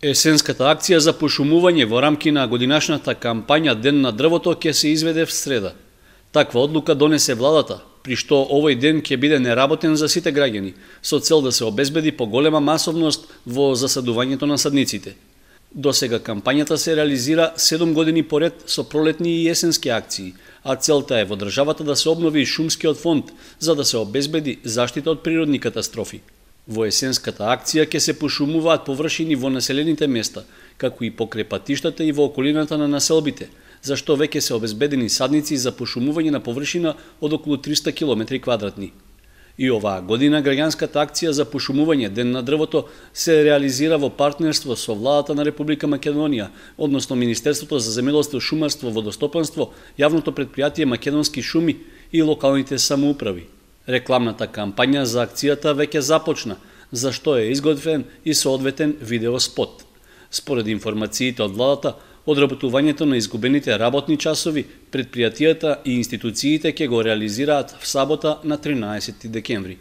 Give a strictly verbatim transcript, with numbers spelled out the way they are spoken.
Есенската акција за пошумување во рамки на годинашната кампања Ден на дрвото ќе се изведе в среда. Таква одлука донесе владата, при што овој ден ќе биде неработен за сите граѓани, со цел да се обезбеди поголема масовност во засадувањето на садниците. До сега кампањата се реализира седум години поред со пролетни и есенски акции, а целта е во државата да се обнови шумскиот фонд за да се обезбеди заштита од природни катастрофи. Во есенската акција ќе се пошумуваат површини во населените места, како и покрај патиштата и во околината на населбите, зашто веќе се обезбедени садници за пошумување на површина од околу триста километри квадратни. И оваа година граѓанската акција за пошумување Ден на дрвото се реализира во партнерство со владата на Република Македонија, односно Министерството за земјоделство, шумарство, водостопанство, јавното претпријатие Македонски шуми и локалните самоуправи. Рекламната кампања за акцијата веќе започна, за што е изготвен и соодветен видеоспот. Според информациите од владата, одработувањето на изгубените работни часови, предпријатијата и институциите ќе го реализираат в сабота на тринаесети декември.